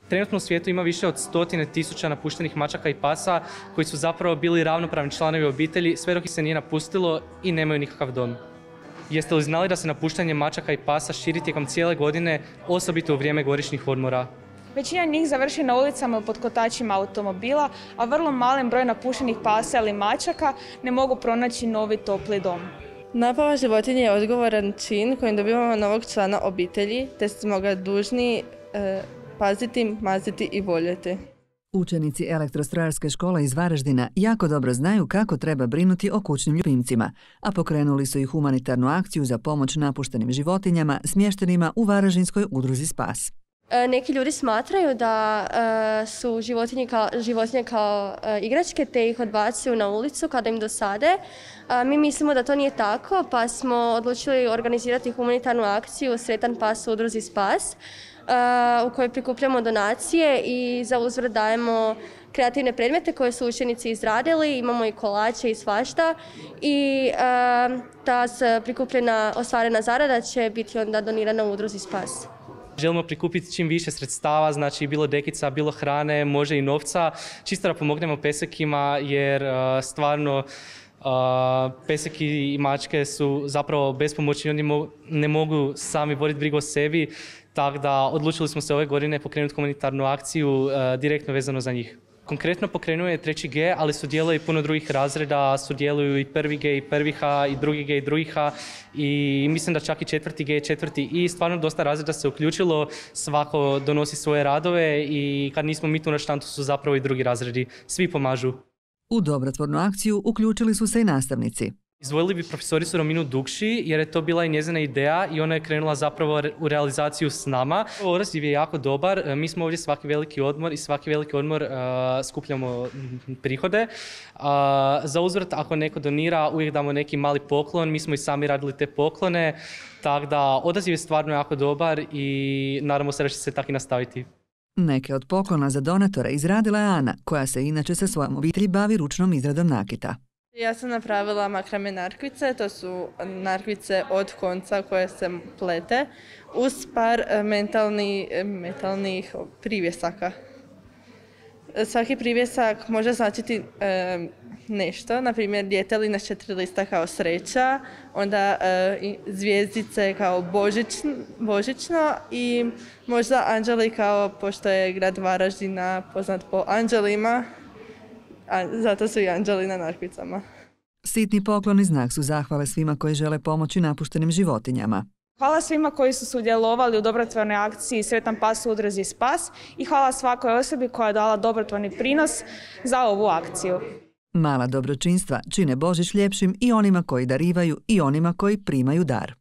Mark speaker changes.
Speaker 1: Trenutno u svijetu ima više od 100.000 napuštenih mačaka i pasa koji su zapravo bili ravnopravni članovi obitelji sve dok ih se nije napustilo i nemaju nikakav dom. Jeste li znali da se napuštanje mačaka i pasa širi tijekom cijele godine, osobito u vrijeme godišnjih odmora?
Speaker 2: Većina njih završi na ulicama ili pod kotačima automobila, a vrlo malen broj napuštenih pasa ili mačaka ne mogu pronaći novi topli dom.
Speaker 3: Napava životinje je odgovoran čin kojim dobivamo novog člana obitelji, te smo ga dužni paziti, maziti i voljeti.
Speaker 4: Učenici elektrostrojarske škole iz Varaždina jako dobro znaju kako treba brinuti o kućnim ljubimcima, a pokrenuli su i humanitarnu akciju za pomoć napuštenim životinjama smještenima u Varaždinskoj udruzi Spas.
Speaker 5: Neki ljudi smatraju da su životinje kao igračke te ih odbacuju na ulicu kada im dosade. Mi mislimo da to nije tako, pa smo odlučili organizirati humanitarnu akciju Sretan pas u udruzi Spas, u kojoj prikupljamo donacije i za uzvrat dajemo kreativne predmete koje su učenici izradili. Imamo i kolače i svašta i ta prikupljena ostvarena zarada će biti onda donirana u udruzi Spas.
Speaker 1: Želimo prikupiti čim više sredstava, znači bilo dekica, bilo hrane, može i novca, čisto da pomognemo pesekima jer stvarno peseki i mačke su zapravo bespomoćni, oni ne mogu sami voditi brigu o sebi, tako da odlučili smo se ove godine pokrenuti humanitarnu akciju direktno vezano za njih. Konkretno pokrenuo je 3G, ali sudjeluje i puno drugih razreda, sudjeluju i 1G i 1H i 2G i 2H i mislim da čak i 4G i 4 i stvarno dosta razreda se uključilo, svako donosi svoje radove i kad nismo mi tu na štantu su zapravo i drugi razredi, svi pomažu.
Speaker 4: U dobrotvornu akciju uključili su se i nastavnici.
Speaker 1: Izdvojili bi profesoricu Rominu Dukši jer je to bila i njezina ideja i ona je krenula zapravo u realizaciju s nama. Odaziv je jako dobar, mi smo ovdje svaki veliki odmor i svaki veliki odmor skupljamo prihode. Za uzvrat ako neko donira uvijek damo neki mali poklon, mi smo i sami radili te poklone, tako da odaziv je stvarno jako dobar i nadamo se da će se tako i nastaviti.
Speaker 4: Neke od poklona za donatore izradila je Ana, koja se inače sa svojom obitelji bavi ručnom izradom nakita.
Speaker 3: Ja sam napravila makrame narkvice, to su narkvice od konca koje se plete uz par metalnih privjesaka. Svaki privjesak može značiti nešto, na primjer djetelina s 4 lista kao sreća, onda zvjezdice kao božićno i možda anđeli kao, pošto je grad Varaždina poznat po anđelima, zato su i anđeli na narkvicama.
Speaker 4: Sitni pokloni znak su zahvale svima koji žele pomoći napuštenim životinjama.
Speaker 2: Hvala svima koji su sudjelovali u dobrotvornoj akciji Sretan pas u udruzi Spas i hvala svakoj osobi koja je dala dobrotvorni prinos za ovu akciju.
Speaker 4: Mala dobročinstva čine Božić ljepšim i onima koji darivaju i onima koji primaju dar.